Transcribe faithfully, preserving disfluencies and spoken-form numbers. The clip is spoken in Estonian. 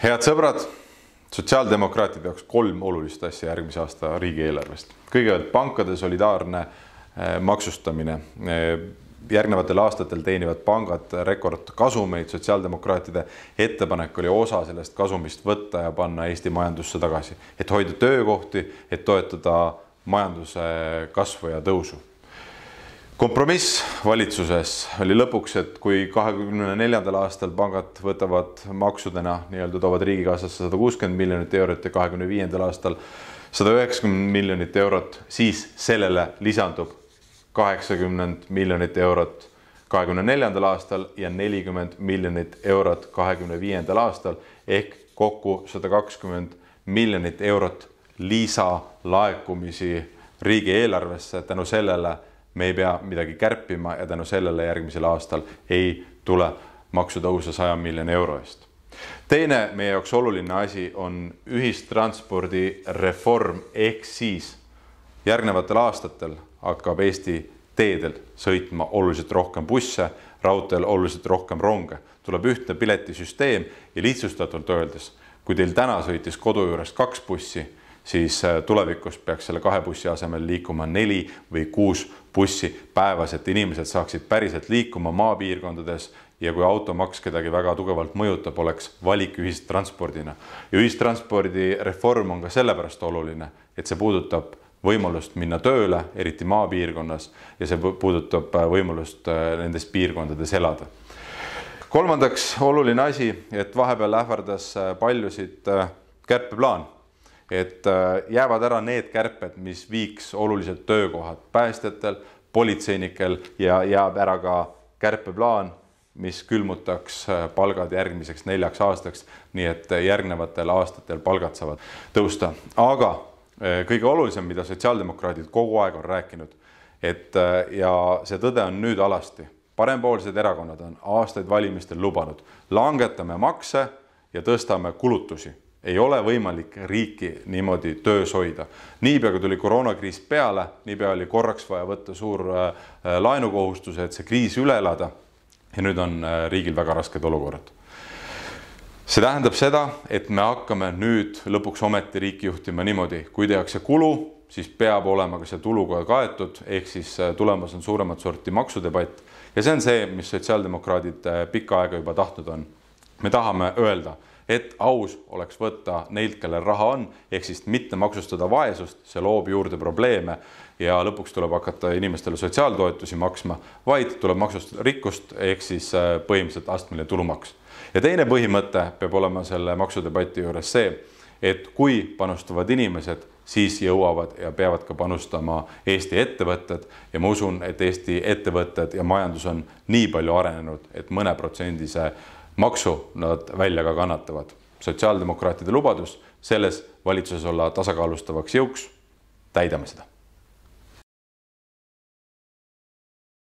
Head sõbrad, sotsiaaldemokraatide jaoks kolm olulist asja järgmise aasta riigieelarvest. Kõigepealt pankade solidaarne maksustamine. Järgnevatel aastatel teenivad pangad rekordkasumeid. Sotsiaaldemokraatide ettepanek oli osa sellest kasumist võtta ja panna Eesti majandusse tagasi, et hoida töökohti, et toetada majanduse kasvu ja tõusu. Kompromiss valitsuses oli lõpuks, et kui kahekümne neljandal aastal pangad võtavad maksudena, nii-öelda toovad riigikassasse sada kuuskümmend miljonit eurot ja kahekümne viiendal aastal sada üheksakümmend miljonit eurot, siis sellele lisandub kaheksakümmend miljonit eurot kahekümne neljandal aastal ja nelikümmend miljonit eurot kahekümne viiendal aastal ehk kokku sada kakskümmend miljonit eurot lisalaekumisi riigieelarvesse. Tänu sellele me ei pea midagi kärpima ja tänu sellele järgmisel aastal ei tule maksutõuse saja miljoni euro eest. Teine meie jaoks oluline asi on ühistranspordi reform ehk siis järgnevatel aastatel hakkab Eesti teedel sõitma oluliselt rohkem busse, raudteel oluliselt rohkem ronge. Tuleb ühtne piletisüsteem ja lihtsustatult öeldes, kui teil täna sõitis kodu juures kaks bussi, siis tulevikus peaks selle kahe bussi asemel liikuma neli või kuus bussi päevas, et inimesed saaksid päriselt liikuma maapiirkondades ja kui automaks kedagi väga tugevalt mõjutab, oleks valik ühistranspordina. Ja ühistranspordi reform on ka sellepärast oluline, et see puudutab võimalust minna tööle, eriti maapiirkonnas, ja see puudutab võimalust nendes piirkondades elada. Kolmandaks oluline asi, et vahepeal ähvardas paljusid kärpeplaan. Et jäävad ära need kärped, mis viiks oluliselt töökohad päästjatel, politseinikel ja jääb ära ka kärpeplaan, mis külmutaks palgad järgmiseks neljaks aastaks, nii et järgnevatel aastatel palgad saavad tõusta. Aga kõige olulisem, mida sotsiaaldemokraadid kogu aeg on rääkinud, et ja see tõde on nüüd alasti. Parempoolsed erakonnad on aastaid valimistel lubanud. Langetame makse ja tõstame kulutusi. Ei ole võimalik riiki niimoodi töös hoida. Niipea kui tuli koroonakriis peale, niipea oli korraks vaja võtta suur laenukohustuse, et see kriis üle elada ja nüüd on riigil väga rasked olukorrad. See tähendab seda, et me hakkame nüüd lõpuks ometi riiki juhtima niimoodi, kui tehakse kulu, siis peab olema ka see tuluga kaetud, ehk siis tulemas on suuremat sorti maksudebatt ja see on see, mis sotsiaaldemokraadid pikka aega juba tahtnud on. Me tahame öelda, et aus oleks võtta neilt, kellel raha on, ehk siis mitte maksustada vaesust, see loob juurde probleeme ja lõpuks tuleb hakata inimestele sotsiaaltoetusi maksma, vaid tuleb maksustada rikkust, ehk siis põhimõtteliselt astmeline tulumaks. Ja teine põhimõte peab olema selle maksudebati juures see, et kui panustavad inimesed, siis jõuavad ja peavad ka panustama Eesti ettevõtted ja ma usun, et Eesti ettevõtted ja majandus on nii palju arenenud, et mõne protsendise maksu nad välja ka kannatavad. Sotsiaaldemokraatide lubadus selles valitsuses olla tasakaalustavaks jõuks, täidame seda.